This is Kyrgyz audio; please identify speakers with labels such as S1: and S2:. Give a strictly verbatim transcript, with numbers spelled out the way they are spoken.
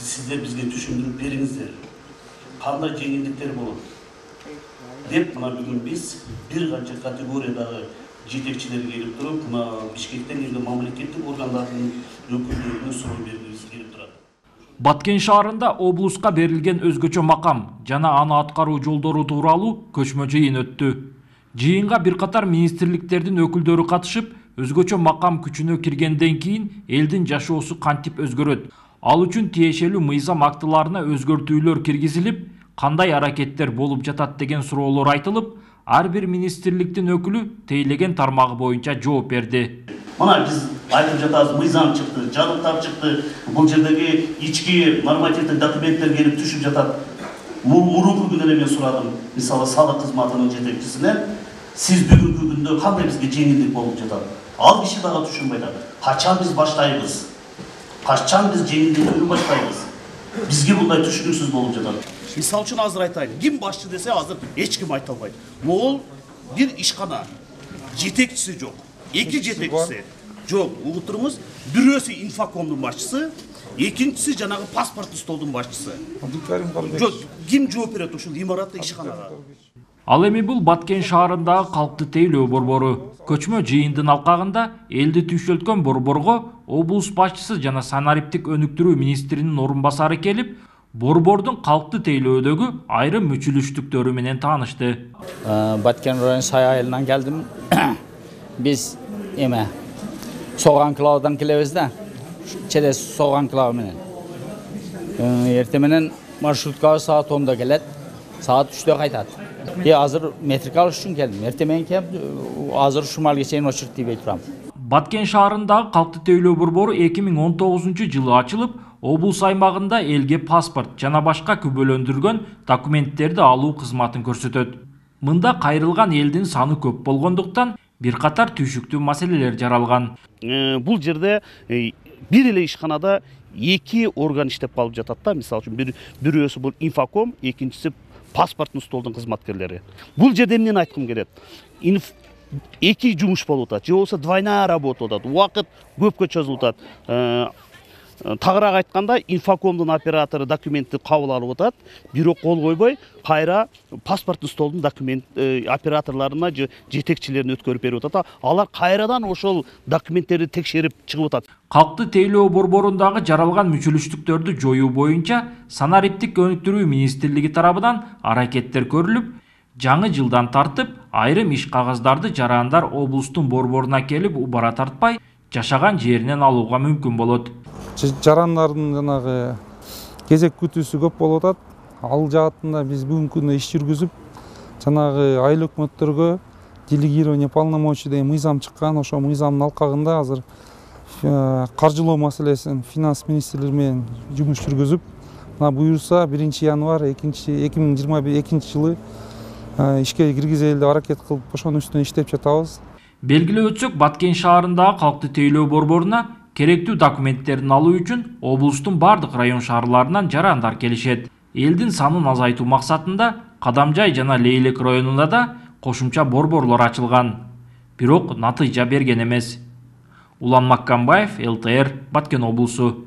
S1: сиздер бизге түшүндүрүп бериңиздер. Кандай жеңилдиктер болот деп мына бүгүн биз бир канча категориядагы жетекчилер келип туруп, мына Бишкектен келген мамлекеттик органдардын өкүлдөрүнө суроо бергибиз келип турат.
S2: Баткен шаарында облуска берилген өзгөчө макам жана аны аткаруу жолдору тууралуу көчмө жыйын өттү. Жыйынга бир катар министрликтердин өкүлдөрү катышып, өзгөчө макам күчүнө киргенден кийин элдин жашоосу кантип өзгөрөт, ал үчүн тиешелүү мыйзам актыларына өзгөртүүлөр киргизилип, кандай аракеттер болуп жатат деген суроолор айтылып, ар бир министрликтин өкүлү тейлеген тармагы боюнча жооп берди.
S1: Мына биз айтып жатабыз, мыйзам чыкты, жабдыктар чыкты, бул жердеги ички нормативдик документтер келип түшүп жатат. Мурунку күнү эле мен сурадым, мисалы салык кызматынын жетекчисинен, сиз бүгүнкү күндө кандай бизге жеңилдик болуп жатат? Ал киши дагы түшүнбөй атат. Качан биз баштайбыз? Качан биз жеңилдикти баштайбыз? Бизге мындай түшүнүксүз болуп жатат. Мисалы үчүн азыр айтайын, ким башчы десе азыр эч ким айта албайт. Могул бир ишкана жетекчиси жок. Эки жетекчиси жок. Угуп туруңуз, бирөөсү инфокомдун башчысы, экинчиси жанагы паспорттуу столдун башчысы. Жок, ким жооп берет ушул имаратта ишканага?
S2: Ал эми бул Баткен шаарындагы калкты тейлөө борбору. Көчмө жыйындын алкагында элди түйшөлткөн борборго облус башчысы жана санариптик өнүктүрүү министринин орун басары келип, борбордун калкты тейлөөдөгү айрым мүчүлүштүктөрү менен таанышты.
S3: Баткен район Сай айылынан келдим. Биз эме Согу анклавдан келебиз да. Челес Согу анклавы менен. Эртең менен маршрутка саат онда келет, саат үчтө кайтат. Е азыр метрик алыш үчүн келдим. Эртең менен келип, азыр ушумалга чейин очередь тийбей турам.
S2: Баткен шаарындагы калкты тейлөө борбору эки миң он тогузунчу жылы ачылып, облус аймагында элге паспорт жана башка күбөлөндүргөн документтерди алуу кызматын көрсөтөт. Мында кайрылган элдин саны көп болгондуктан бир катар түйшүктүү маселелер жаралган.
S1: Бул жерде бир эле ишканада эки орган иштеп калып жатат да. Мисалы үчүн бирөөсү бул инфоком, экинчиси паспорттуу столдун кызматкерлери. Бул жерде эмнени айткым келет? Эки жумуш болуп атат, же болбосо двойная работа болуп атат, убакыт көпкө созулуп атат. Тагыраак айтканда, инфокомдун оператору документти кабыл алып атат, бирок кол койбой, кайра паспорттуу столдун документ операторлоруна же жетекчилерине өткөрүп берип атат. Алар кайрадан ошол документтерди текшерип чыгып атат.
S2: Калкты тейлөө борборундагы жаралган мүчүлүштүктөрдү жоюу боюнча санариптик өнүктүрүү министрлиги тарабынан аракеттер көрүлүп, жаңы жылдан тартып айрым иш кагаздарды жарандар облустун борборуна келип убара тартпай, жашаган жеринен алууга мүмкүн болот.
S4: Жарандардын жанагы кезек күтүүсү көп болуп атат. Ал жаатында биз бүгүнкү күндө иш жүргүзүп, жанагы айыл өкмөттөргө делегирование полномочий деген мыйзам чыккан. Ошо мыйзамдын алкагында азыр каржылоо маселесин финанс министрлиги менен жумуш жүргүзүп, мына буюрса биринчи январь эки миң жыйырма экинчи жылы ишке киргизели деп аракет кылып, ошонун үстүнө иштеп жатабыз.
S2: Белгилеп өтсөк, Баткен шаарындагы калкты тейлөө борборуна керектүү документтерин алуу үчүн облустун бардык район шаарларынан жарандар келишет. Элдин санын азайтуу максатында Кадамжай жана Лейлек районунда да кошумча борборлор ачылган. Бирок натыйжа берген эмес. Улан Маккамбаев, эл тэ эр, Баткен облусу.